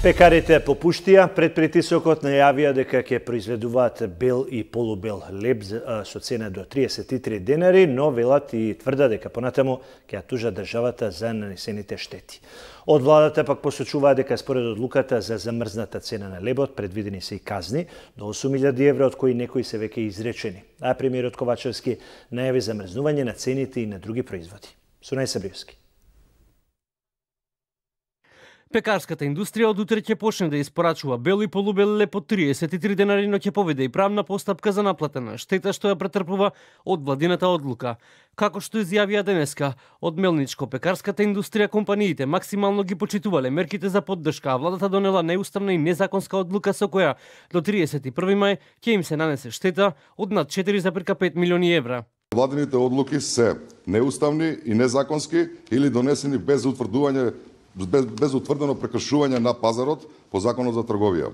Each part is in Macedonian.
Пекарите попуштија пред притисокот најавија дека ќе произведуваат бел и полубел леб со цена до 33 денари, но велат и тврда дека понатаму ќе ја тужат државата за нанесените штети. Од владата пак посочуваат дека според одлуката за замрзната цена на лебот предвидени се и казни до 8.000 евра, од кои некои се веќе изречени. А премиерот Ковачевски најави замрзнување на цените и на други производи. Сунај Сабриевски. Пекарската индустрија од утре ќе почне да испорачува бел и полубел леб по 33 денари, но ќе поведе и правна постапка за наплата на штета што ја претрпува од владината одлука. Како што изјавија денеска, од мелничко-пекарската индустрија компаниите максимално ги почитувале мерките за поддршка, а владата донела неуставна и незаконска одлука со која до 31 мај ќе им се нанесе штета од над 4,5 милиони евра. Владините одлуки се неуставни и незаконски или донесени без утврдено прекршување на пазарот по Законот за трговија.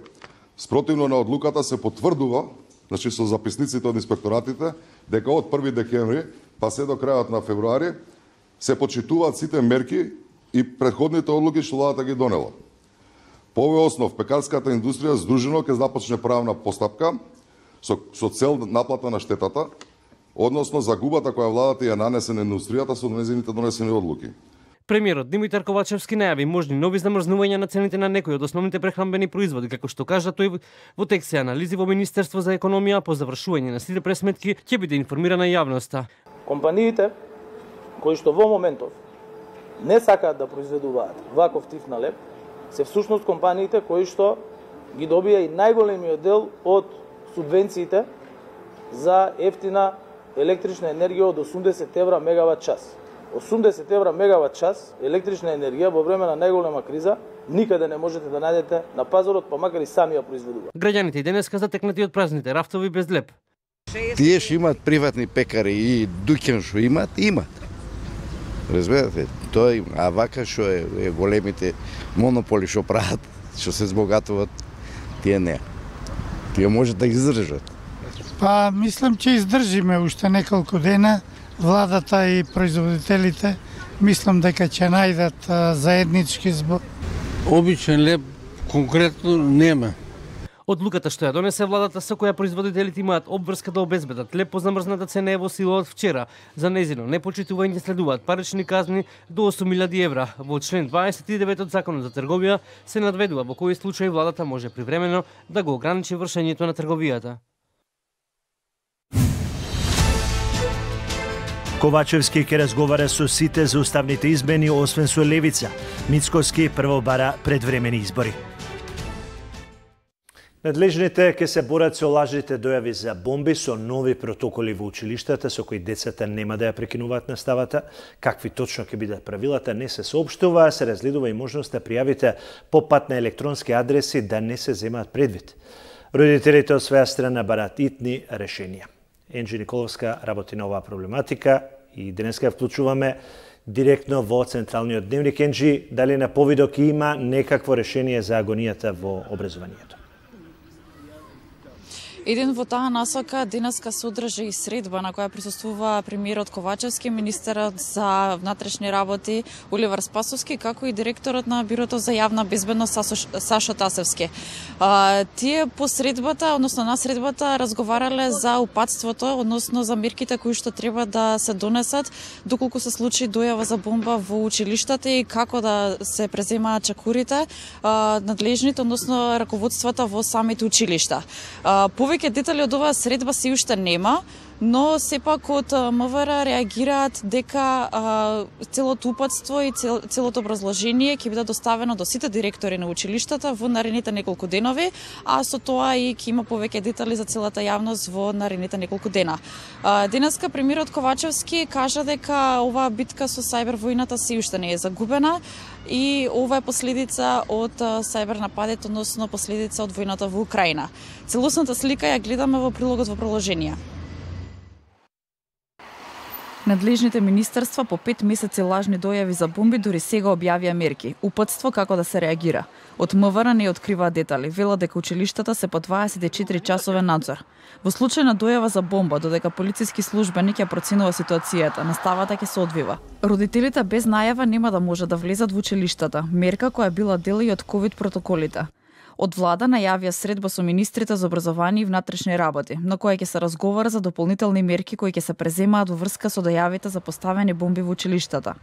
Спротивно на одлуката се потврдува, значи со записниците од инспекторатите, дека од 1 декември па се до крајот на февруари се почитуваат сите мерки и претходните одлуки што владата ги донела. По овој основ пекарската индустрија здружено ќе започне правна постапка со цел наплата на штетата, односно загубата која владата ја нанесе на индустријата со нејзините донесени одлуки. Премиерот Димитар Ковачевски најави можни нови замрзнувања на цените на некои од основните прехранбени производи, како што кажа тој во текст се анализи во Министерство за економија. По завршување на сите пресметки ќе биде информирана јавноста. Компаниите кои што во моментов не сакаат да произведуваат ваков тип на леб, се всушност компаниите кои што ги добија и најголемиот дел од субвенциите за ефтина електрична енергија од 80 евра мегават час. 80 евра мегават час електрична енергија во време на најголема криза никаде не можете да најдете на пазарот, па макар и сами ја произведуваат. Граѓаните и денеска затекнати од празните рафтови без леб. Тие што имаат приватни пекари и дуќан што имат. Разбирате, тој, а вака што е големите монополи што прават, што се збогатуваат, тие не. Тие може да издржат. Па мислам че издржиме уште неколку дена. Владата и производителите мислам дека ќе најдат заеднички збор. Обичен леб конкретно нема. Одлуката што ја донесе владата со која производителите имаат обврска да обезбедат леб по замрзната цена е во сила од вчера. За нејзино непочитување следуваат парични казни до 8.000 евра. Во член 29 од Законот за трговија се надведува во кои случаи владата може привремено да го ограничи вршењето на трговијата. Ковачевски ќе разговара со сите за уставните измени, освен со левица. Мицкоски прво бара предвремени избори. Надлежните ќе се борат со лажните дојави за бомби со нови протоколи во училиштата со кои децата нема да ја прекинуваат наставата. Какви точно ќе бидат правилата не се соопштува, а се разгледува и можност да пријавите по пат на електронски адреси да не се земаат предвид. Родителите од своја страна бараат итни решенија. Енџи Николовска работи на оваа проблематика и денеска ја вклучуваме директно во Централниот дневник. Енџи, дали на повидок има некакво решение за агонијата во образованието? Еден во таа насока денеска се одржа и средба на која присуствува премиерот Ковачевски, министерот за внатрешни работи Оливар Спасовски, како и директорот на Бирото за јавна безбедност Сашо Тасевски. Тие по средбата, односно на средбата, разговарале за упатството, односно за мерките кои што треба да се донесат доколку се случи дојава за бомба во училиштата и како да се преземаат чекурите, надлежните, односно раководствата во самите училишта. Повеќе детали од оваа средба се уште нема, но сепак од МВР реагираат дека целото упатство и целото образложение ќе биде доставено до сите директори на училиштата во наредните неколку денови, а со тоа и ќе има повеќе детали за целата јавност во наредните неколку дена. Денеска премиерот Ковачевски кажа дека оваа битка со сајбер војната се уште не е загубена и ова е последица од сајбер нападот, односно последица од војната во Украина. Целосната слика ја гледаме во прилогот во приложение. Надлежните министерства по 5 месеци лажни дојави за бомби дури сега објавија мерки, упатство како да се реагира. Од МВР не откриваат детали, велат дека училиштата се по 24 часовен надзор. Во случај на дојава за бомба, додека полициски службеник ја проценува ситуацијата, наставата ќе се одвива. Родителите без најава нема да може да влезат во училиштата, мерка која била дел и од ковид протоколите. Од влада најавија средба со министрите за образование и внатрешни работи, на која ќе се разговара за дополнителни мерки кои ќе се преземаат во врска со дојавите за поставени бомби во училиштата.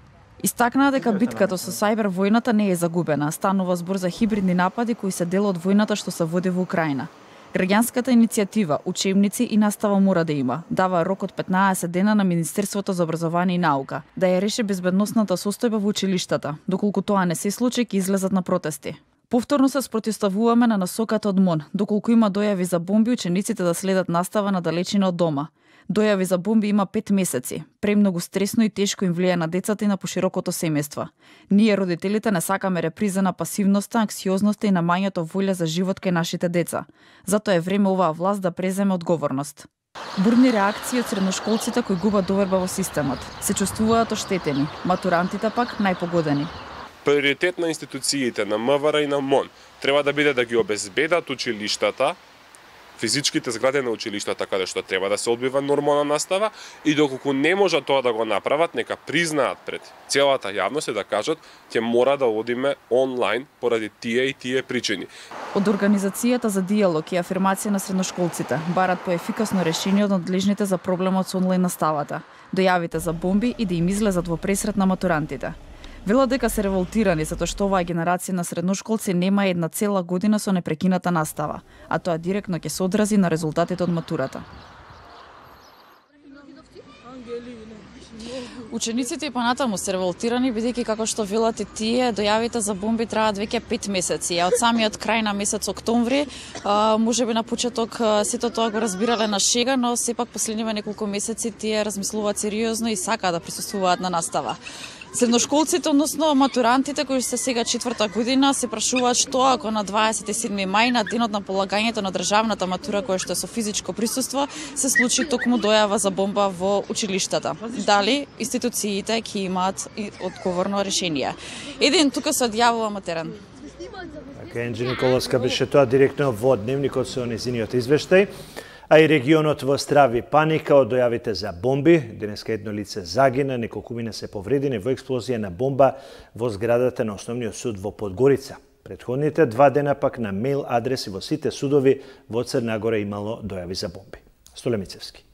Истакнаа дека битката со сајбер војната не е загубена, станува збор за хибридни напади кои се дел од војната што се води во Украина. Граѓанската иницијатива, учебници и настава мора да има. Дава рок од 15 дена на Министерството за образование и наука да ја реши безбедносната состојба во училиштата. Доколку тоа не се случи, ќе излезат на протести. Повторно се спротивставуваме на насоката од МОН. Доколку има дојави за бомби, учениците да следат настава на далечина од дома. Дојави за бомби има 5 месеци. Премногу стресно и тешко им влијае на децата и на поширокото семејство. Ние, родителите, не сакаме реприза на пасивноста, анксиозноста и намањето волја за живот кај нашите деца. Затоа е време оваа власт да преземе одговорност. Бурни реакции од средношколците кои губат доверба во системот. Се чувствуваат оштетени, матурантите пак најпогодени. Приоритет на институциите на МВР и на МОН треба да биде да ги обезбедат училиштата, физичките згради на училиштата каде што треба да се одбива нормална настава и доколку не можат тоа да го направат, нека признаат пред целата јавност и да кажат ќе мора да одиме онлайн поради тие и тие причини. Од Организацијата за диалог и афирмација на средношколците барат по ефикасно решение од надлежните за проблемот со онлайн наставата, дојавите за бомби и да им излезат во пресрет на матурантите. Велат дека се револтирани затоа што оваа генерација на средношколци нема една цела година со непрекината настава, а тоа директно ќе се одрази на резултатите од матурата. Учениците и понатаму се револтирани, бидејќи како што велат и тие, дојавите за бомби траат веќе 5 месеци, а од самиот крај на месец октомври, можеби на почеток сето тоа го разбирале на шега, но сепак последниве неколку месеци тие размислуваат сериозно и сакаат да присуствуваат на настава. Средношколците, односно матурантите кои се сега 4-та година, се прашуваат што ако на 27 мај, на денот на полагањето на државната матура која што е со физичко присуство, се случи токму дојава за бомба во училиштата. Дали институциите ќе имаат одговорно решение? Еден тука се одјавува матерен. Енџи Николовска беше тоа директно во дневникот со незиниот извештај. А и регионот во здрави паника од дојавите за бомби. Денеска едно лице загина, неколкумина се повредени во експлозија на бомба во зградата на Основниот суд во Подгорица. Претходните 2 дена пак на мејл адреси во сите судови во Црна Гора имало дојави за бомби. Столе Мицевски.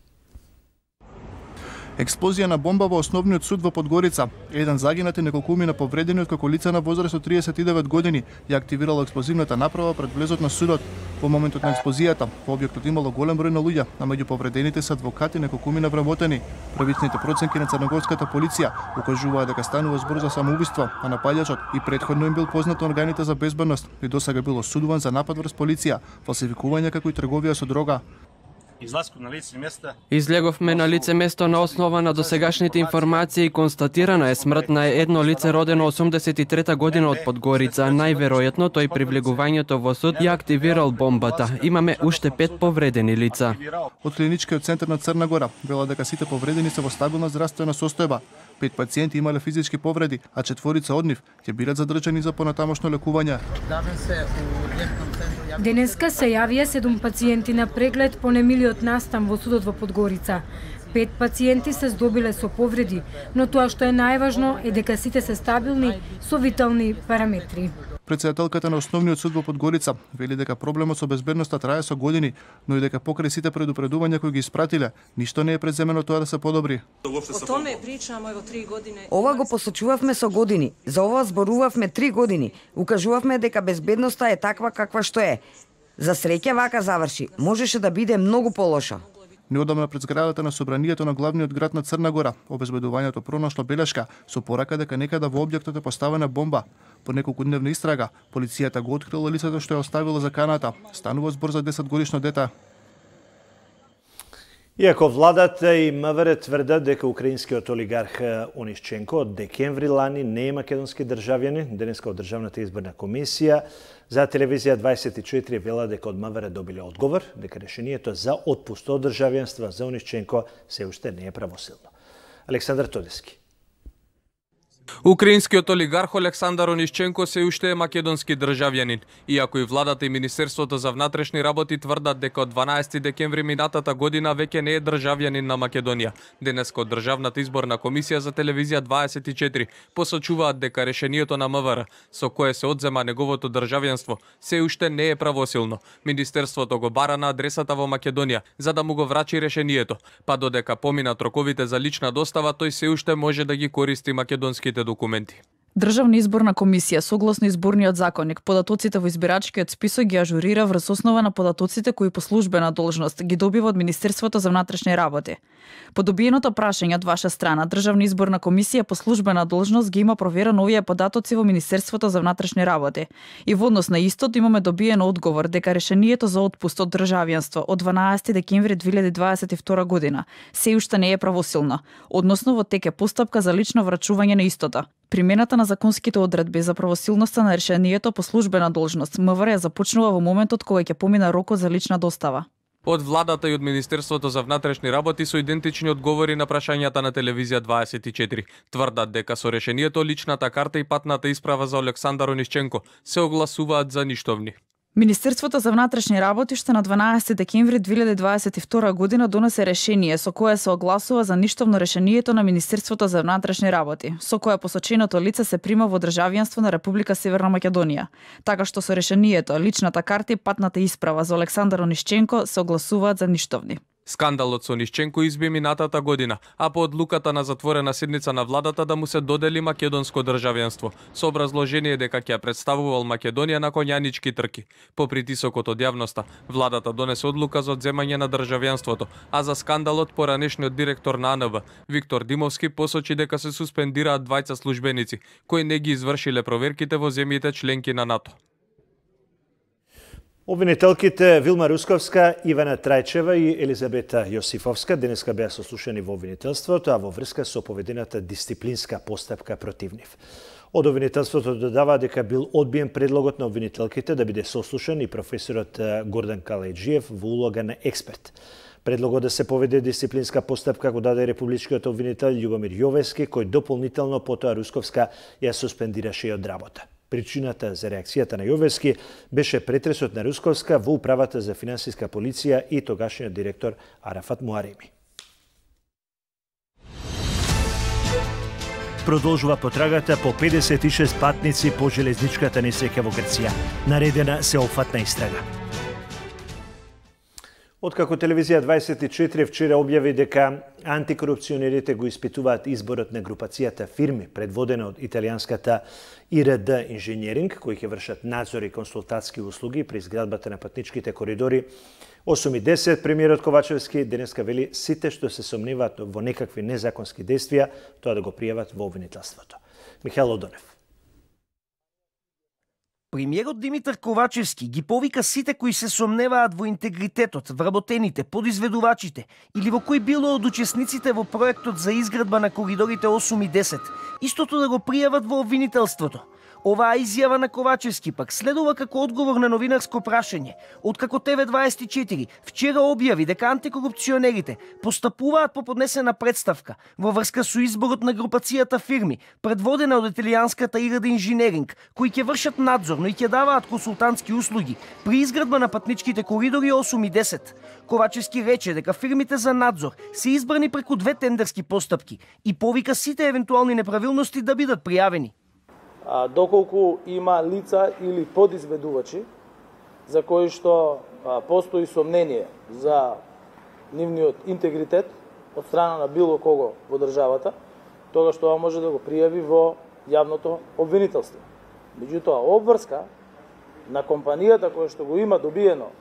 Експлозија на бомба во Основниот суд во Подгорица. Еден загинат и неколкумина повредени откако лице на возраст од 39 години ја активирало експлозивната направа пред влезот на судот. Во моментот на експлозијата, во објектот имало голем број на луѓе, а меѓу повредените се адвокати и неколкумина вработени. Првичните проценки на црногорската полиција укажуваа дека станува збор за самоубиство, а напаѓачот и претходно им бил познат на органите за безбедност и досега бил осудуван за напад врз полиција, фалсификување како и трговија со дрога. Излеговме на лице место на основа на досегашните информации и констатирана е смрт на едно лице родено 83-та година од Подгорица. Најверојатно тој при влегувањето во суд ја активирал бомбата. Имаме уште 5 повредени лица. Од клиничкиот центар на Црна Гора вела дека сите повредени се во стабилна здравствена состојба. 5 пациенти имале физички повреди, а 4 од нив ќе бидат задржани за понатамошно лекување. Денеска се јавија 7 пациенти на преглед по немилиот настан во судот во Подгорица. 5 пациенти се здобиле со повреди, но тоа што е најважно е дека сите се стабилни со витални параметри. Претседателката на Основниот суд во Подгорица вели дека проблемот со безбедноста трае со години, но и дека покрај сите предупредувања кои ги испратиле, ништо не е преземено тоа да се подобри. Ова го посочувавме со години, за ова зборувавме 3 години, укажувавме дека безбедноста е таква каква што е. За среќа вака заврши, можеше да биде многу полошо. Неодамна пред зградата на собранието на главниот град на Црна Гора, обезбедувањето пронашло белешка со порака дека некада во објектот е поставена бомба. По неколкудневна истрага, полицијата го открила лицето што ја оставило заканата. Станува збор за 10-годишно дете. Иако владата и МВР тврдат дека украинскиот олигарх Онишченко од декември лани не е македонски државјанин, денеска од Државната изборна комисија за телевизија 24 вела дека од МВР добиле одговор дека решението за отпуст од државјанство за Онишченко се уште не е правосилно. Александар Тодески. Украинскиот олигарх Олександар Онишченко се уште е македонски државјанин, иако и владата и Министерството за внатрешни работи тврдат дека од 12 декември минатата година веќе не е државјанин на Македонија. Денеска од Државната изборна комисија за телевизија 24 посочуваат дека решението на МВР, со кое се одзема неговото државјанство, се уште не е правосилно. Министерството го бара на адресата во Македонија за да му го врачи решението, па додека поминат роковите за лична достава, тој се уште може да ги користи македонските документи. Државна изборна комисија согласно изборниот законник податоците во избирачкиот список ги ажурира врз основа на податоците кои по службена должност ги добива од Министерството за внатрешни работи. По добиеното прашање од ваша страна, Државна изборна комисија по службена должност ги има проверен овие податоци во Министерството за внатрешни работи. И во однос на истото имаме добиен одговор дека решението за отпуст од државјанство од 12 декември 2022 година се уште не е правосилно, односно во тек е постапка за лично врачување на истото. Примената на законските одредби за правосилноста на решението по службена должност МВР започнува во моментот кога ќе помина рокот за лична достава. Од владата и од Министерството за внатрешни работи со идентични одговори на прашањата на телевизија 24 тврдат дека со решението личната карта и патната исправа за Олександар Онишченко се огласуваат за ништовни. Министерството за внатрешни работи што на 12 декември 2022 година донесе решение со кое се огласува за ништовно решението на Министерството за внатрешни работи, со кое посоченото лице се прима во државјанство на Република Северна Македонија. Така што со решението личната карта и патната исправа за Олександар Онишченко се огласуваат за ништовни. Скандалот со Онишченко изби минатата година, а по одлуката на затворена седница на владата да му се додели македонско државјанство, со образложение дека ќе представувал Македонија на конјанички трки. По притисокот од јавноста, владата донесе одлука за одземање на државјанството, а за скандалот поранешниот директор на АНБ, Виктор Димовски, посочи дека се суспендираат двајца службеници, кои не ги извршиле проверките во земјите членки на НАТО. Обвинителките Вилма Русковска, Ивана Трајчева и Елизабета Јосифовска денеска беа сослушани во обвинителството, а во врска со поведената дисциплинска постапка против нив. Од обвинителството додава дека бил одбиен предлогот на обвинителките да биде сослушан и професорот Гордан Калајджиев во улога на експерт. Предлогот да се поведе дисциплинска постапка го даде републичкиот обвинител Љубомир Јовески, кој дополнително потоа Русковска ја суспендираше и од работа. Причината за реакцијата на Јовески беше претресот на Русковска во управата за финансиска полиција и тогашниот директор Арафат Муареми. Продолжува потрагата по 56 патници по железничката несреќа во Грција. Наредена сеопфатна истрага. Откако телевизија 24 вчера објави дека антикорупционерите го испитуваат изборот на групацијата фирми предводена од италијанската ИРД Инженеринг, кои ќе вршат надзор и консултатски услуги при изградбата на патничките коридори 8 и 10, премиерот Ковачевски денеска вели сите што се сомневаат во некакви незаконски действија, тоа да го пријават во обвинителството. Михаил Одонев. Премиерот Димитар Ковачевски ги повика сите кои се сомневаат во интегритетот, вработените, подизведувачите или во кој било од учесниците во проектот за изградба на коридорите 8 и 10, истото да го пријават во обвинителството. Оваа изјава на Ковачевски пак следува како одговор на новинарско прашање, откако ТВ24 вчера објави дека антикорупционерите постапуваат по поднесена представка во врска со изборот на групацијата фирми, предводена од италијанската ИРД Инженеринг, кои ќе вршат надзор, но и ќе даваат консултантски услуги при изградба на патничките коридори 8 и 10. Ковачевски рече дека фирмите за надзор се избрани преку две тендерски постапки и повика сите евентуални неправилности да бидат пријавени. Доколку има лица или подизведувачи за кои што постои сомнение за нивниот интегритет од страна на било кого во државата, тогаш тоа може да го пријави во јавното обвинителство. Меѓутоа, обврска на компанијата која што го има добиено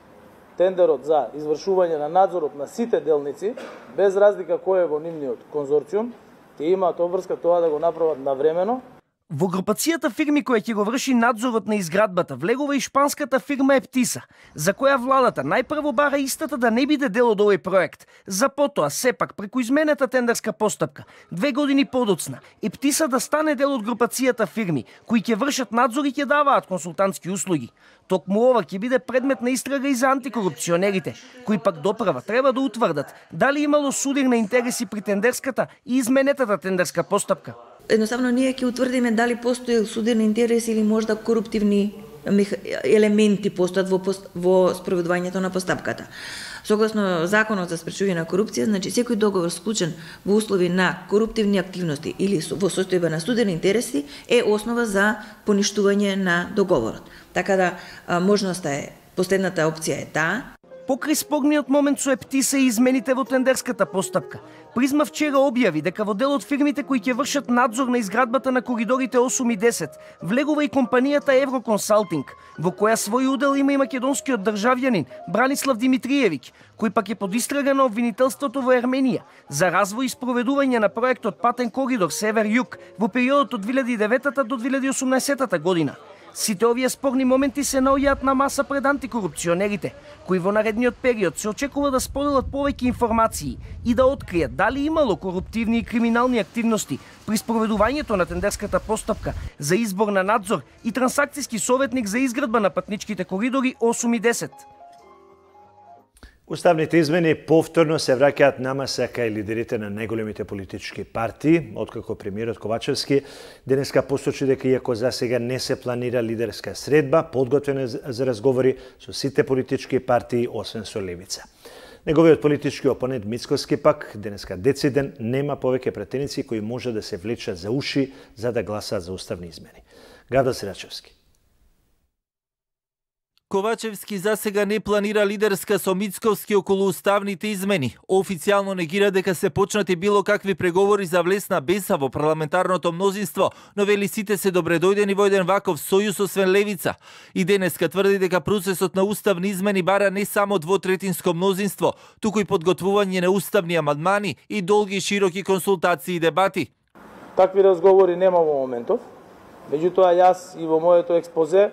тендерот за извршување на надзорот на сите делници, без разлика кој е во нивниот конзорциум, те имаат обврска тоа да го направат навремено. Во групацијата фирми која ќе го врши надзорот на изградбата влегува и шпанската фирма Ептиса, за која владата најпрво бара истата да не биде дел од овој проект. За потоа, сепак, преку изменета тендерска постапка, 2 години подоцна, Ептиса да стане дел од групацијата фирми, кои ќе вршат надзор и ќе даваат консултантски услуги. Токму ова ќе биде предмет на истрага и за антикорупционерите, кои пак доправа треба да утврдат дали имало судир на интереси при тендерската и изменетата тендерска постапка. Едноставно ние ќе утврдиме дали постои судирни интереси или можда коруптивни елементи постојат во спроведувањето на постапката. Согласно Законот за спречување на корупција, значи секој договор склучен во услови на коруптивни активности или во состојба на судирни интереси е основа за поништување на договорот. Така да можноста е, последната опција е таа. Покрај спорниот момент со Ептиса и измените во тендерската постапка, Призма вчера објави дека во дел од фирмите кои ќе вршат надзор на изградбата на коридорите 8 и 10 влегува и компанијата Евроконсалтинг, во која свој удел има и македонскиот државјанин Бранислав Димитриевиќ, кој пак е под истрага на обвинителството во Ерменија за развој и спроведување на проектот Патен коридор Север-Југ во периодот од 2009 до 2018 година. Сите овие спорни моменти се наоѓаат на маса пред антикорупционерите, кои во наредниот период се очекува да споделат повеќе информации и да откријат дали имало коруптивни и криминални активности при спроведувањето на тендерската постапка за избор на надзор и трансакцијски советник за изградба на патничките коридори 8 и 10. Уставните измени повторно се враќаат на маса кај лидерите на најголемите политички партии, откако премиерот Ковачевски денеска посочи дека иако засега не се планира лидерска средба, подготвена за разговори со сите политички партии освен со левица. Неговиот политички опонент Мицкоски пак денеска дециден нема повеќе пратеници кои може да се влечат за уши за да гласаат за уставни измени. Гавда Сирачевски. Ковачевски засега не планира лидерска со Мицковски околу уставните измени. Официјално негира дека се почнати било какви преговори за влесна беса во парламентарното мнозинство, но вели сите се добредојдени во еден ваков сојуз освен левица. И денеска тврди дека процесот на уставни измени бара не само двотретинско мнозинство, туку и подготвување на уставни амандмани и долги и широки консултации и дебати. Такви разговори нема во моментов. Меѓутоа јас и во моето експозе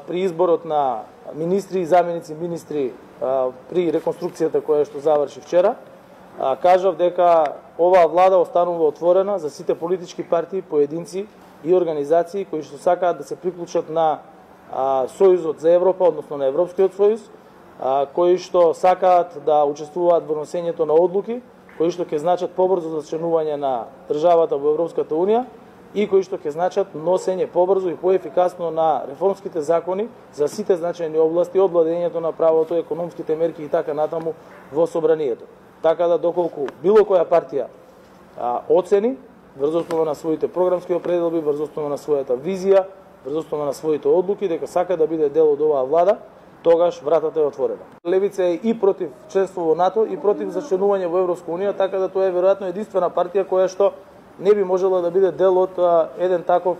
при изборот на министри и заменици министри при реконструкцијата која што заврши вчера, кажав дека оваа влада останува отворена за сите политички партии, поединци и организации кои што сакаат да се приклучат на Сојузот за Европа, односно на Европскиот сојуз, кои што сакаат да учествуваат во носењето на одлуки, кои што ќе значат побрзо зачленување на државата во Европската унија, и кои што ќе значат носење побрзо и поефикасно на реформските закони за сите значајни области од владењето на правото, економските мерки и така натаму во собранието. Така да доколку било која партија оцени врз основа на своите програмски определби, врз основа на својата визија, врз основа на своите одлуки дека сака да биде дел од оваа влада, тогаш вратата е отворена. Левица е и против членство во НАТО и против зачленување во Европска унија, така да тоа е веројатно единствена партија која што не би можела да биде дел од еден таков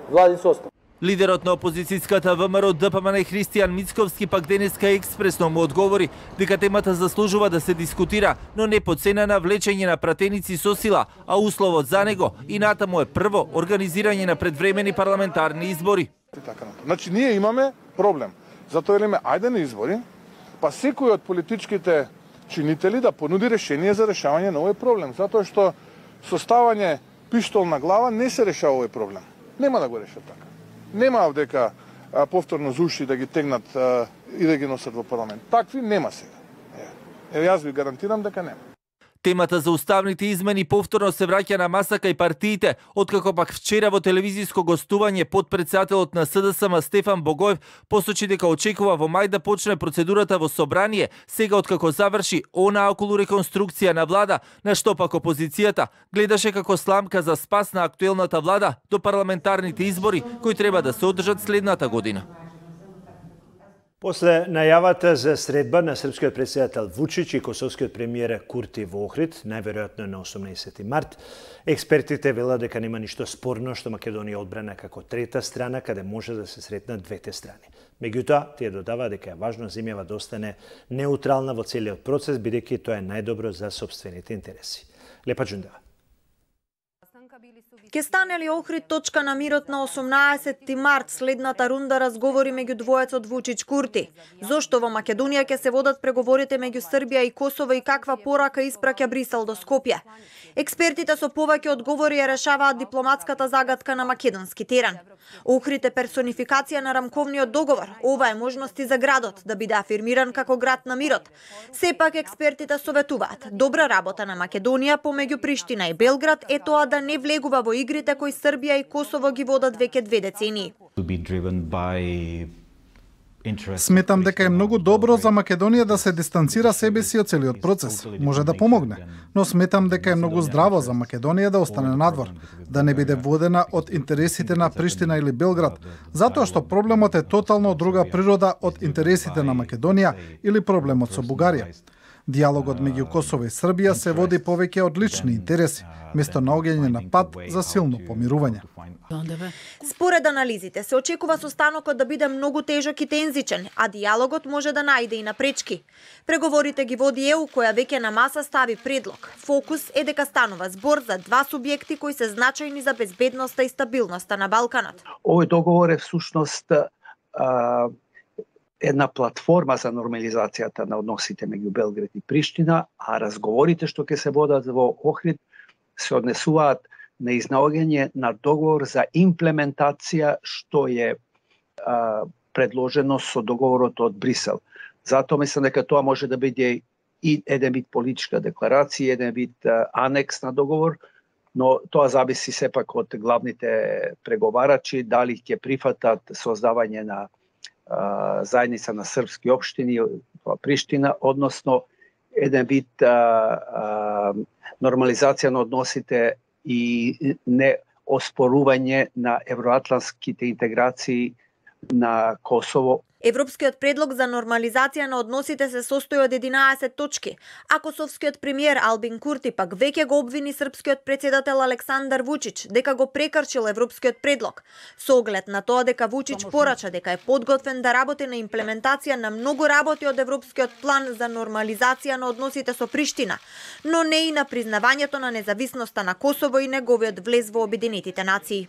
владин состав. Лидерот на опозицијската ВМРО ДПМН Христијан Мицковски пак денеска експресно му одговори дека темата заслужува да се дискутира, но не по цена на влечење на пратеници со сила, а условот за него и натаму е прво организирање на предвремени парламентарни избори. Значи ние имаме проблем. Затоа велиме ајде на избори, па секој од политичките чинители да понуди решение за решавање на овој проблем, затоа што составање пиштол на глава не се решава овој проблем. Нема да го решат така. Нема дека повторно зуши да ги тегнат и да ги носат во парламент. Такви нема сега. Јас ви гарантирам дека нема. Темата за уставните измени повторно се враќа на маса кај партиите, откако пак вчера во телевизиско гостување подпредседателот на СДСМ Стефан Богоев посочи дека очекува во мај да почне процедурата во собрание, сега откако заврши она околу реконструкција на влада, на што пак опозицијата гледаше како сламка за спас на актуелната влада до парламентарните избори кои треба да се одржат следната година. После најавата за средба на српскиот претседател Вучич и косовскиот премиер Курти во Охрид, најверојатно на 18 март, експертите велат дека нема ништо спорно што Македонија одбрана како трета страна каде може да се сретнат двете страни. Меѓутоа, тие додава дека е важно земјава да остане неутрална во целиот процес, бидејќи тоа е најдобро за сопствените интереси. Лепа Џундева. Ке стане ли Охрид точка на мирот на 18 март следната рунда разговори меѓу двоецот Вучич-Курти? Зошто во Македонија ќе се водат преговорите меѓу Србија и Косово и каква порака испраќа Брисел до Скопје? Експертите со повеќе одговори ја решаваат дипломатската загадка на македонски терен. Охрид е персонификација на рамковниот договор. Ова е можности за градот да биде афирмиран како град на мирот. Сепак експертите советуваат добра работа на Македонија помеѓу Приштина и Белград е тоа да не влегува во игрите кои Србија и Косово ги водат веќе 2 децении. Сметам дека е многу добро за Македонија да се дистанцира себе си од целиот процес. Може да помогне, но сметам дека е многу здраво за Македонија да остане надвор, да не биде водена од интересите на Приштина или Белград, затоа што проблемот е тотално од друга природа од интересите на Македонија или проблемот со Бугарија. Диалогот меѓу Косово и Србија се води повеќе од лични интереси, место наоѓање на пат за силно помирување. Според анализите се очекува состанокот да биде многу тежок и тензичен, а диалогот може да најде и напречки. Преговорите ги води ЕУ, која веќе на маса стави предлог. Фокус е дека станува збор за два субјекти кои се значајни за безбедноста и стабилноста на Балканот. Овој договор е всушност една платформа за нормализацијата на односите меѓу Белград и Приштина, а разговорите што ќе се водат во Охрид се однесуваат на изнаоѓање на договор за имплементација што е предложено со договорот од Брисел. Затоа мислам дека тоа може да биде и еден вид политичка декларација, еден вид анекс на договор, но тоа зависи сепак од главните преговарачи дали ќе прифатат создавање на заедница на српски општини во Приштина, односно еден вид нормализација на односите и не оспорување на евроатлантските интеграции на Косово. Европскиот предлог за нормализација на односите се состои од 11 точки, а косовскиот премиер Албин Курти пак веќе го обвини српскиот председател Александар Вучич дека го прекршил европскиот предлог, со оглед на тоа дека Вучич порача дека е подготвен да работи на имплементација на многу работи од европскиот план за нормализација на односите со Приштина, но не и на признавањето на независноста на Косово и неговиот влез во Обединетите нации.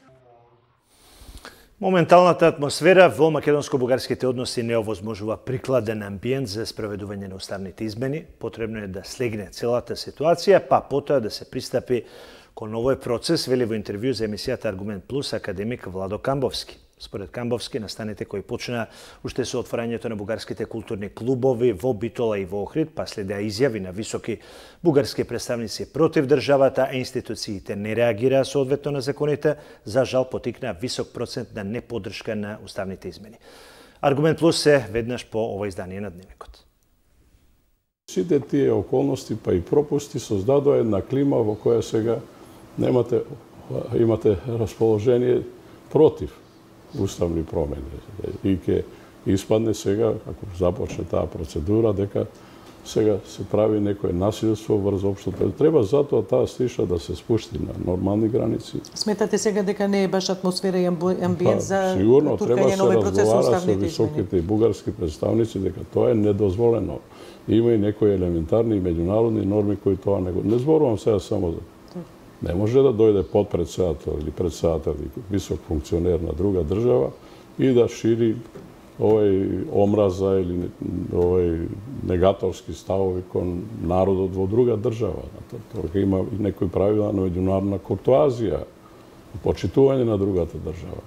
Моменталната атмосфера во македонско-бугарските односи не овозможува прикладен амбиент за спроведување на уставните измени. Потребно е да слегне целата ситуација, па потоа да се пристапи кон овој процес, вели во интервју за емисијата Аргумент Плюс академик Владо Камбовски. Според Камбовски, настаните кои почна уште со отворањето на бугарските културни клубови во Битола и во Охрид, па следеа изјави на високи бугарски представници против државата, а институциите не реагираа соодветно на законите, за жал потикнаа висок процент на неподршка на уставните измени. Аргумент Плюс се веднаш по ова издание на Дневникот. Сите тие околности па и пропусти создадоа една клима во која сега имате расположение против уставни промени. И ќе испадне сега, ако започне таа процедура, дека сега се прави некое насилство врз општото. Треба затоа таа стиша да се спушти на нормални граници. Сметате сега дека не е баш атмосфера и амбиент за сигурно треба да се разговара со измени? високите бугарски представници дека тоа е недозволено. Има и некои елементарни меѓународни норми кои тоа не зборувам сега само за. Не може да дојде подпредседател или председател или висок функционер на друга држава и да шири овој омраза или овој негаторски ставови кон народот во друга држава. Тоа има и некои правила на меѓународна куртоазија, почитување на другата држава.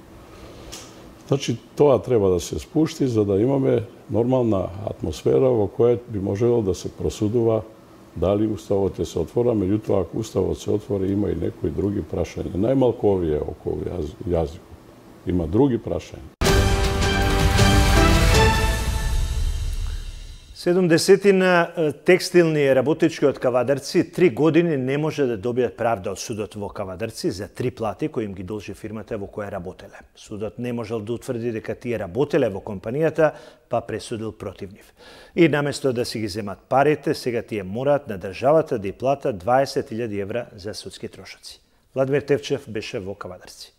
Значи, тоа треба да се спушти за да имаме нормална атмосфера во која би можело да се просудува дали уставот ќе се отвора, меѓутоа ако уставот се отвори има и некои други прашања. Најмалку овие околу јазикот. Има други прашања. 70 текстилни работички од Кавадарци 3 години не може да добијат правда од судот во Кавадарци за 3 плати кои им ги должи фирмата во која работеле. Судот не можел да утврди дека тие работеле во компанијата, па пресудил против нив. И наместо да си ги земат парите, сега тие мораат на државата да ја платат 20.000 евра за судски трошоци. Владимир Тевчев беше во Кавадарци.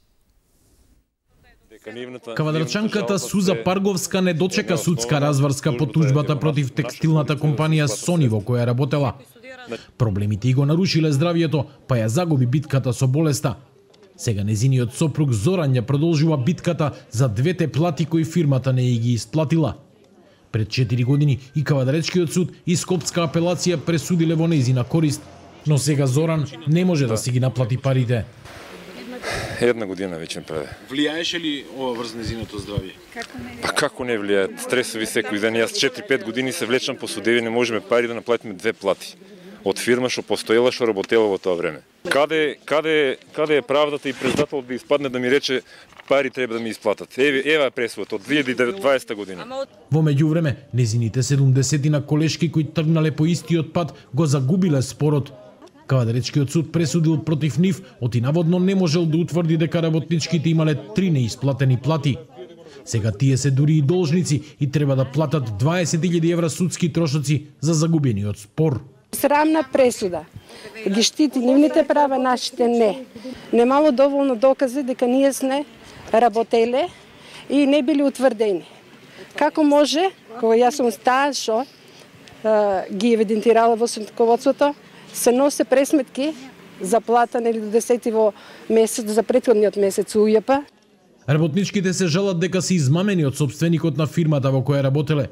Кавадарчанката Суза Парговска не дочека судска разврска по тужбата против текстилната компанија Сони во која работела. Проблемите го нарушиле здравието, па ја загуби битката со болеста, Сега незиниот сопруг Зоран ја продолжува битката за двете плати кои фирмата не ги исплатила. Пред 4 години и Кавадаречкиот суд и Скопска апелација пресудиле во нејзина корист, но сега Зоран не може да си ги наплати парите. Една година веќе преде. Влијаеше ли ова врз незиното здравје? Па како не влијае? Стресови секој ден. Јас 4-5 години се влечам по судеви, не можеме пари да наплатиме две плати. Од фирма што постоела, што работела во тоа време. Каде е правдата и председател да испадне да ми рече пари треба да ми исплатат. Ева е пресудата од 2020 година. Во меѓувреме, незините 70 колешки кои тргнале по истиот пат го загубиле спорот. Кавадаречкиот суд пресудил против нив, оти наводно не можел да утврди дека работничките имале 3 неисплатени плати. Сега тие се дури и должници и треба да платат 20.000 евра судски трошоци за загубениот спор. Срамна пресуда. Ги штити нивните права, нашите не. Немало доволно докази дека ние сме работеле и не били утврдени. Како може, кога јас сум таа што ги евидентирала во судководството, се носе пресметки за плата нели до 10 во месец, за претходниот месец УЈП. Работничките се жалат дека се измамени од сопственикот на фирмата во која работеле.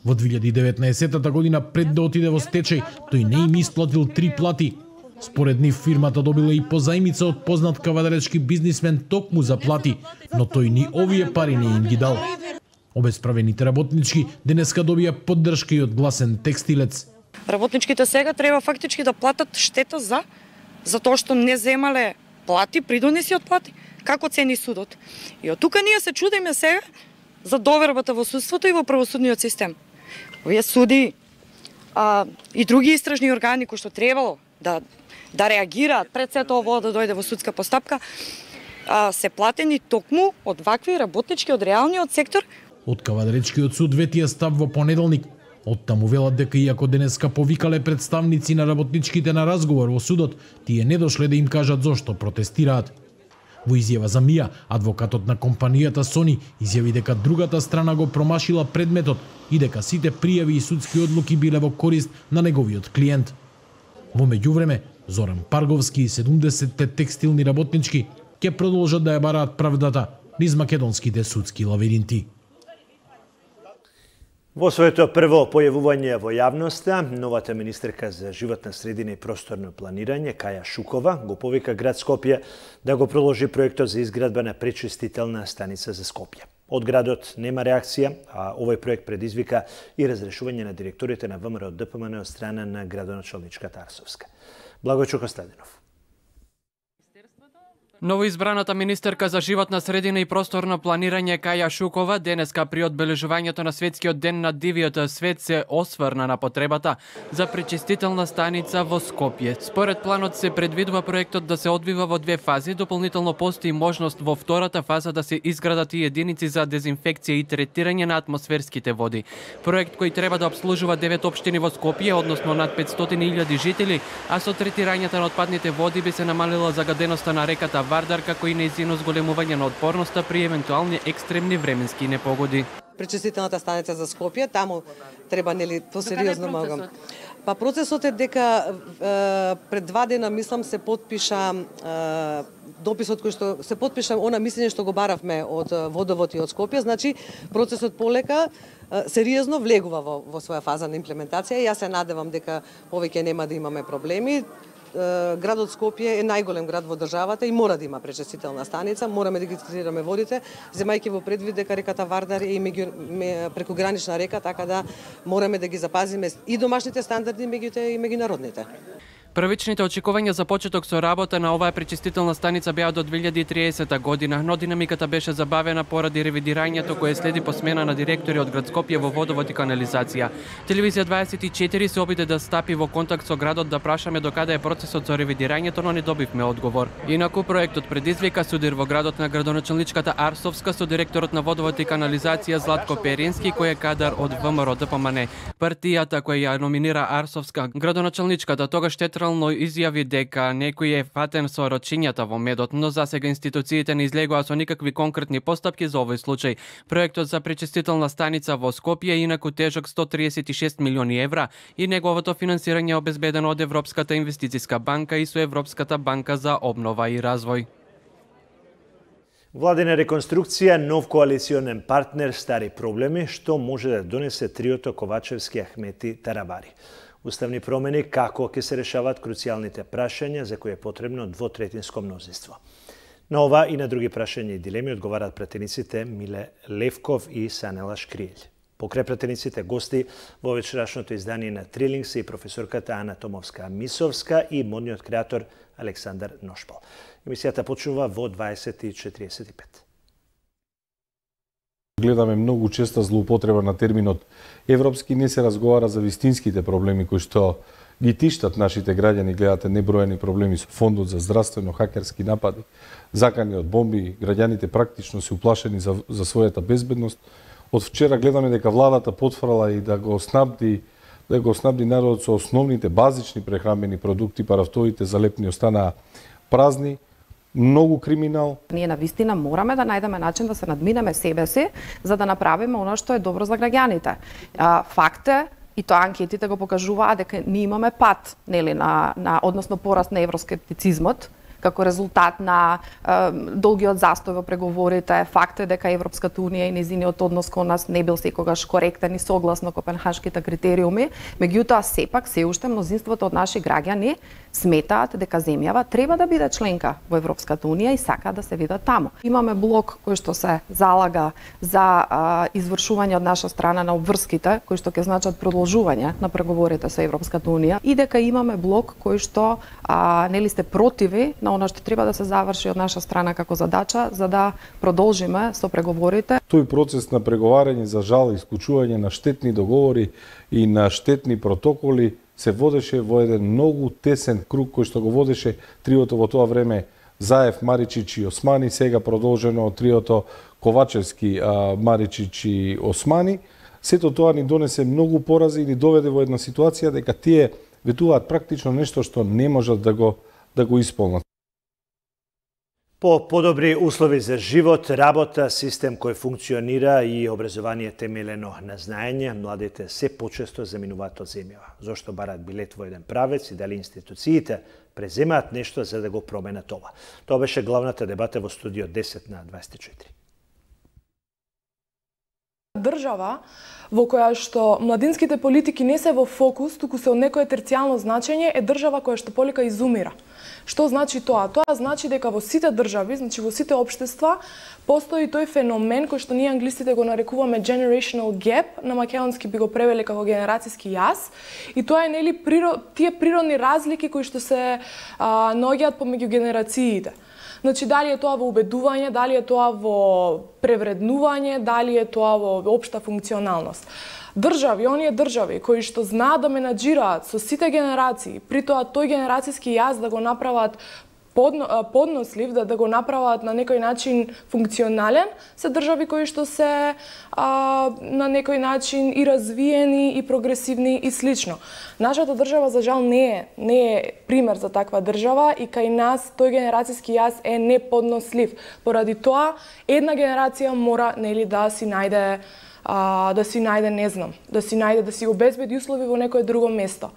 Во 2019 година, пред да отиде во стечај, тој не им исплатил 3 плати. Според нив фирмата добила и позајмица од познат кавадаречки бизнисмен токму за плати, но тој ни овие пари не им ги дал. Обесправените работнички денеска добија поддршка и од гласен текстилец. Работничките сега треба фактички да платат штета за тоа што не земале плати, придонеси од плати, како цени судот. И од тука ние се чудиме сега за довербата во судството и во правосудниот систем. Овие суди и други истражни органи кои што требало да реагираат пред сето ово да дојде во судска постапка, се платени токму од вакви работнички од реалниот сектор. Од Кавадаречкиот суд ветија став во понеделник. Од таму велат дека иако денеска повикале представници на работничките на разговор во судот, тие не дошле да им кажат зошто протестираат. Во изјава за МИА, адвокатот на компанијата Сони изјави дека другата страна го промашила предметот и дека сите пријави и судски одлуки биле во корист на неговиот клиент. Во меѓувреме, Зоран Парговски и 70 текстилни работнички ќе продолжат да ја бараат правдата низ македонските судски лавиринти. Во своето прво појавување во јавноста, новата министерка за животна средина и просторно планирање, Каја Шукова, го повика град Скопје да го продолжи проектот за изградба на пречистителна станица за Скопје. Од градот нема реакција, а овој проект предизвика и разрешување на директорите на ВМРО ДПМН од страна на градоначалничката Арсовска. Благојчо Костадинов. Новоизбраната министерка за животна средина и просторно планирање Каја Шукова денеска при одбележувањето на светскиот ден на дивиот свет се осврна на потребата за пречистителна станица во Скопје. Според планот се предвидува проектот да се одвива во две фази, дополнително постои можност во втората фаза да се изградат и единици за дезинфекција и третирање на атмосферските води. Проект кој треба да обслужува 9 општини во Скопје, односно над 500.000 жители, а со третирањето на отпадните води би се намалила загаденоста на реката Вардар, како и нејзино зголемување на отпорноста при евентуални екстремни временски непогоди. Пречистителната станица за Скопје, таму треба нели посериозно малку. Па процесот е дека пред 2 дена мислам се потпиша дописот кој што се потпиша она мислење што го баравме од Водовод и од Скопје, значи процесот полека сериозно влегува во своја фаза на имплементација и јас се надевам дека повеќе нема да имаме проблеми. Градот Скопје е најголем град во државата и мора да има пречистителна станица, мораме да ги третираме водите, земајќи во предвид дека реката Вардар е прекогранична река, така да мораме да ги запазиме и домашните стандарди и меѓународните. Првичните очекувања за почеток со работа на оваа пречистителна станица беа до 2030 година, но динамиката беше забавена поради ревидирањето кое следи по смена на директори од град Скопје во водовод и канализација. Телевизија 24 се обиде да стапи во контакт со градот да прашаме докаде е процесот со ревидирањето, но не добивме одговор. Инаку проектот предизвика судир во градот на градоначалничката Арсовска со директорот на водовод и канализација Златко Перински, кој е кадар од ВМРО ДПМН. Партијата која ја номинира Арсовска, градоначалничката тогаш изјави дека некој е фатен со рочињата во медот, но засега институциите не излегоа со никакви конкретни постапки за овој случај. Проектот за пречистителна станица во Скопје е инаку тежок 136 милиони евра и неговото финансирање е обезбедено од Европската инвестициска банка и со Европската банка за обнова и развој. Владина реконструкција, нов коалиционен партнер, стари проблеми, што може да донесе триото Ковачевски, Ахмети, Таравари. Уставни промени, како ќе се решават круцијалните прашања за кои е потребно двотретинско мнозинство. На ова и на други прашања и дилеми одговарат пратениците Миле Левков и Санела Шкријел. Покрај пратениците гости во вечерашното издание на Трилинг се и професорката Ана Томовска-Мисовска и модниот креатор Александар Ношпал. Емисијата почнува во 20:45. Гледаме многу честа злоупотреба на терминот европски, не се разговара за вистинските проблеми кои што ги тиштат нашите граѓани. Гледате неброени проблеми со фондот за здравствено, хакерски напади, закани од бомби, граѓаните практично се уплашени за својата безбедност. Од вчера гледаме дека владата потврала и да го снабди народот со основните базични прехранбени продукти, парафтоите за лепни останаа празни. Многу криминал. Ние навистина мораме да најдеме начин да се надминеме себе си, за да направиме оно што е добро за граѓаните. Факт е, и тоа анкетите го покажуваат, дека ние имаме пат, нели, односно пораст на евроскептицизмот, како резултат на долгиот застој во преговорите. Факт е дека Европската унија и нејзиниот однос кон нас не бил секогаш коректен и согласно копенхашките критериуми. Меѓутоа, сепак, се уште мнозинството од наши граѓани сметаат дека земјава треба да биде членка во Европската унија и сакаат да се видат таму. Имаме блок кој што се залага за извршување од наша страна на обврските, кои што ќе значат продолжување на преговорите со Европската унија, и дека имаме блок кој што нели сте противи на она што треба да се заврши од наша страна како задача, за да продолжиме со преговорите. Тој процес на преговарање, за жал, исклучување на штетни договори и на штетни протоколи се водеше во еден многу тесен круг кој што го водеше триото во тоа време Заев, Маричич и Османи, сега продолжено од триото Ковачевски, Маричич и Османи. Сето тоа ни донесе многу порази и ни доведе во една ситуација дека тие ветуваат практично нешто што не можат да го исполнат. По подобри услови за живот, работа, систем кој функционира и образование темелено на знаење, младите се почесто заминуваат од земјава. Зошто барат билет во еден правец и дали институциите преземаат нешто за да го променат ова? Тоа беше главната дебата во студио 10 на 24. Држава во која што младинските политики не се во фокус, туку се од некое терцијално значење, е држава која што полека изумира. Што значи тоа? Тоа значи дека во сите држави, значи во сите општества, постои тој феномен кој што ние англисите го нарекуваме generational gap, на македонски би го превеле како генерацијски јаз, и тоа е нели тие природни разлики кои што се наоѓаат помеѓу генерациите. Значи, дали е тоа во убедување, дали е тоа во превреднување, дали е тоа во општа функционалност. Држави, оние држави кои што знаат да менаџираат со сите генерации, при тоа тој генерацијски јаз да го направат поднослив, да го направат на некој начин функционален, се држави кои што се на некој начин и развиени, и прогресивни и слично. Нашата држава, за жал, не е пример за таква држава и кај нас тој генерацијски јаз е неподнослив. Поради тоа, една генерација мора нели да си најде, не знам, да си обезбеди услови во некое друго место.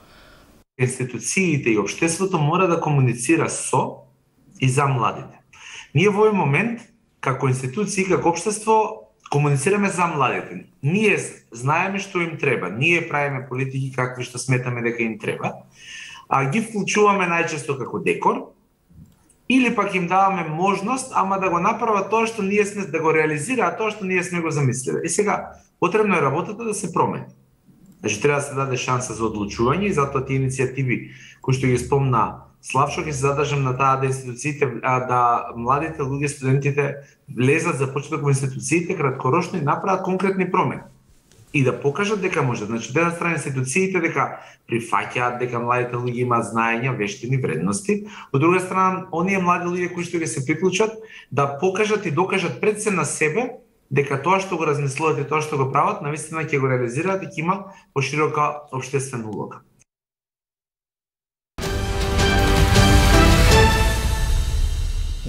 Институциите и општеството мора да комуницира со и за младите. Ние во овој момент, како институции, како општество, комуницираме за младите. Ние знаеме што им треба, ние правиме политики какви што сметаме дека им треба, а ги вклучуваме најчесто како декор, или пак им даваме можност, ама да го направат тоа што ние сме, да го реализираат тоа што ние сме го замислиле. И сега, потребно е работата да се промени. Значи, треба да се даде шанса за одлучување и затоа тие иницијативи кои што ги спомна Славчо, ќе се задржам на таа да институциите, да младите луѓе, студентите влезат, започнат во институциите краткорочно и направат конкретни промени. И да покажат дека може. Значи, од една страна институциите дека прифаќаат дека младите луѓе имаат знаења, вештини, вредности, од друга страна оние млади луѓе кои што ќе се приклучат да покажат и докажат пред се на себе дека тоа што го размислуваат и тоа што го прават, навистина ќе го реализираат и ќе има поширока општествена улога.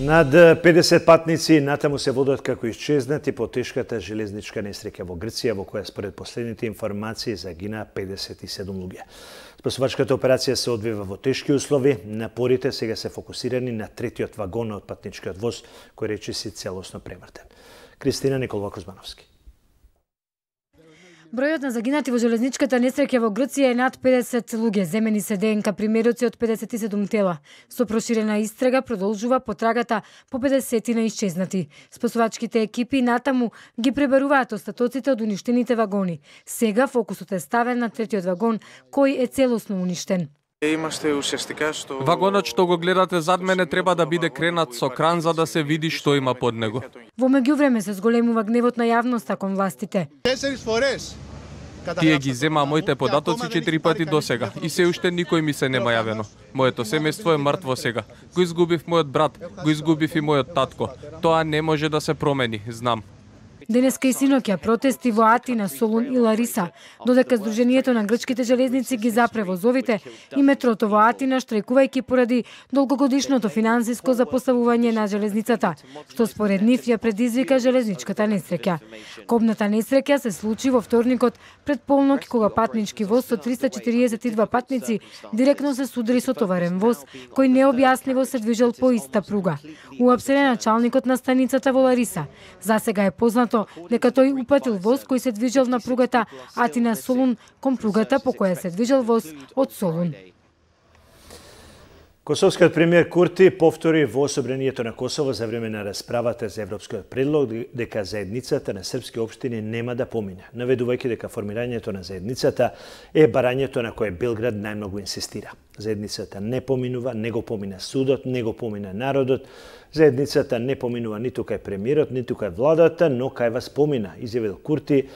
Над 50 патници натаму се водат како исчезнати по тешката железничка несреќа во Грција, во која според последните информации загина 57 луѓе. Спасувачката операција се одвива во тешки услови. Напорите сега се фокусирани на третиот вагон од патничкиот воз, кој речиси целосно превртен. Кристина Николова-Кузмановски. Бројот на загинати во железничката несреќа во Грција е над 50 луѓе. Земени се ДНК примероци од 57 тела. Со проширена истрага продолжува потрагата по 50 на исчезнати. Спасувачките екипи натаму ги пребаруваат остатоците од уништените вагони. Сега фокусот е ставен на третиот вагон, кој е целосно уништен. Вагонот што го гледате зад мене треба да биде кренат со кран за да се види што има под него. Во меѓувреме се зголемува гневот на јавноста кон властите. Тие ги зема моите податоци 4 пати до сега и се уште никој ми се нема јавено. Моето семејство е мртво сега. Го изгубив мојот брат, го изгубив и мојот татко. Тоа не може да се промени, знам. Денеска и синоќа протести во Атина, Солун и Лариса, додека Сдруженијето на грчките железници ги запре возовите и метрото во Атина, штрајкувајќи поради долгогодишното финансиско запоставување на железницата, што според нив ја предизвика железничката несреќа. Кобната несреќа се случи во вторникот пред полнок, кога патнички воз со 342 патници директно се судри со товарен воз, кој необјаснливо се движел по иста пруга. Уапсен е началникот на станицата во Лариса. Засега е познато дека тој упатил воз кој се движел на пругата Атина-Солун кон пругата по која се движел воз од Солун. Косовскиот премиер Курти повтори во Собранието на Косово за време на расправата за европскиот предлог дека заедницата на српски општини нема да помине, наведувајќи дека формирањето на заедницата е барањето на кое Белград најмногу инсистира. Заедницата не поминува, не го помина судот, не го помина народот. Заедницата не поминува ниту кај премиерот, ниту кај владата, но кај вас помина, изјавил Курти,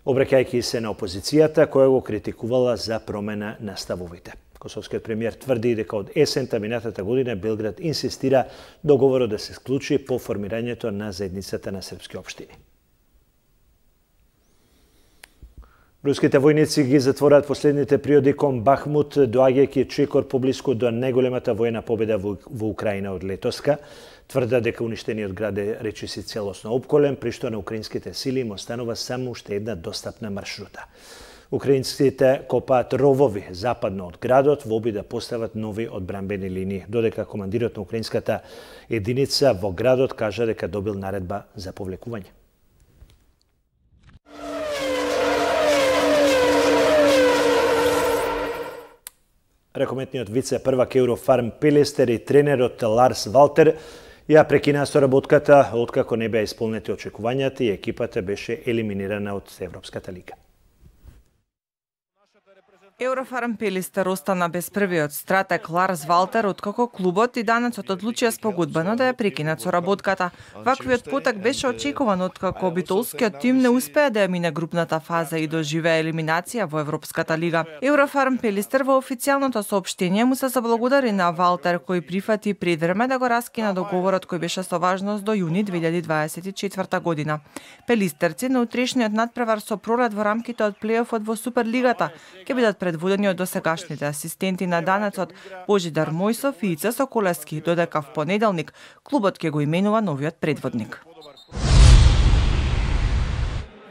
обраќајќи се на опозицијата која го критикувала за промена на ставовите. Косовскиот премиер тврди дека од есента минатата година Белград инсистира договорот да се склучи по формирањето на заедницата на српски општини. Руските војници ги затворат последните приоди кон Бахмут, доаѓајќи чекор поблиску до најголемата војна победа во Украина од летоска. Тврда дека уништениот град е речиси целосно опколен, при што на украинските сили им останува само уште една достапна маршрута. Украинците копаат ровови западно од градот во обид да постават нови одбранбени линии, додека командирот на украинската единица во градот кажа дека добил наредба за повлекување. Рекометниот вице-првак Еврофарм Пелистер и тренерот Ларс Валтер ја прекинаа соработката откако не беа исполнети очекувањата и екипата беше елиминирана од Европската лига. Еврофарм Пелистер остана без првиот стратег Ларс Валтер откако клубот и данецот одлучија спогодбено да ја прекинат соработката. Ваквиот потек беше очекуван откако битолскиот тим не успеа да ја мине групната фаза и доживеа елиминација во Европската лига. Еврофарм Пелистер во официјалното соопштение му се заблагодари на Валтер кој прифати пред време да го раскина договорот кој беше со важност до јуни 2024 година. Пелистерци на утрешниот надпревар со пролет во рамките од плејофот во Суперлигата ќе бидат предводени од досегашните асистенти на данецот Божидар Мојсов и Ица Соколевски, додека в понеделник клубот ќе го именува новиот предводник.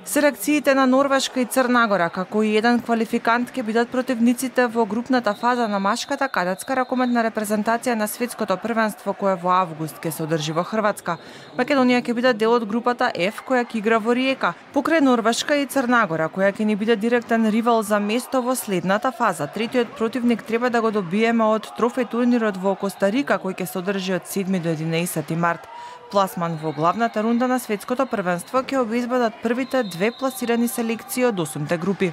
Селекциите на Норвешка и Црна Гора, како и еден квалификант, ќе бидат противниците во групната фаза на машката кадетска ракометна репрезентација на светското првенство кое во август ќе се одржи во Хрватска. Македонија ќе биде дел од групата F која ќе игра во Риека, покрај Норвешка и Црна Гора која ќе ни биде директен ривал за место во следната фаза. Третиот противник треба да го добиеме од трофеј турнирот во Коста Рика кој ќе се одржи од 7 до 11 март. Пласман во главната рунда на светското првенство ќе обезбедат првите две пласирани селекции од 8-те групи.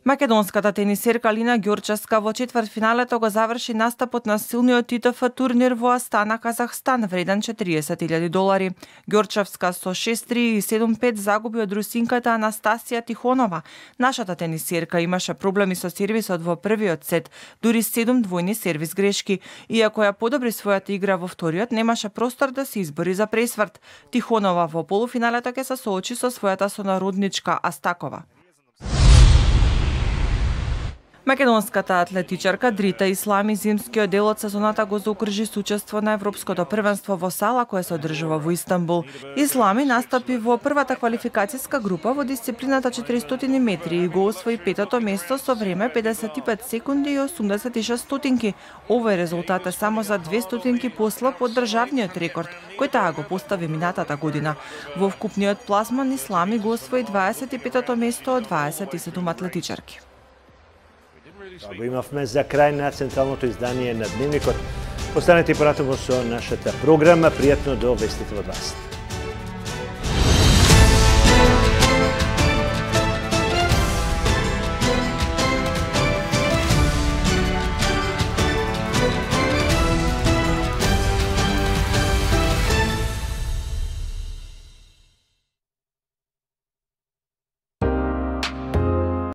Македонската тенисерка Алина Ѓорчевска во четвртфиналето го заврши настапот на силниот ИТФ турнир во Астана, Казахстан, вреден $40,000. Ѓорчевска со 6-3 и 7-5 загуби од русинката Анастасија Тихонова. Нашата тенисерка имаше проблеми со сервисот во првиот сет, дури 7 двојни сервис грешки. Иако ја подобри својата игра во вториот, немаше простор да се избори за пресврт. Тихонова во полуфиналето ќе се соочи со својата сонародничка Астакова. Македонската атлетичарка Дрита Ислами зимскиот дел од сезоната го заукружи со учество на Европското првенство во сала кое се одржува во Истанбул. Ислами настапи во првата квалификацијска група во дисциплината 400 метри и го освои петото место со време 55 секунди и 86 стотинки. Овој резултат е само за 2 стотинки послаб од државниот рекорд, кој таа го постави минатата година. Во вкупниот пласман Ислами го освои 25-то место од 27 атлетичарки. Го имавме за крај на централното издание на Дневникот. Останете и понатаму со нашата програма. Пријатно до вестите во 20.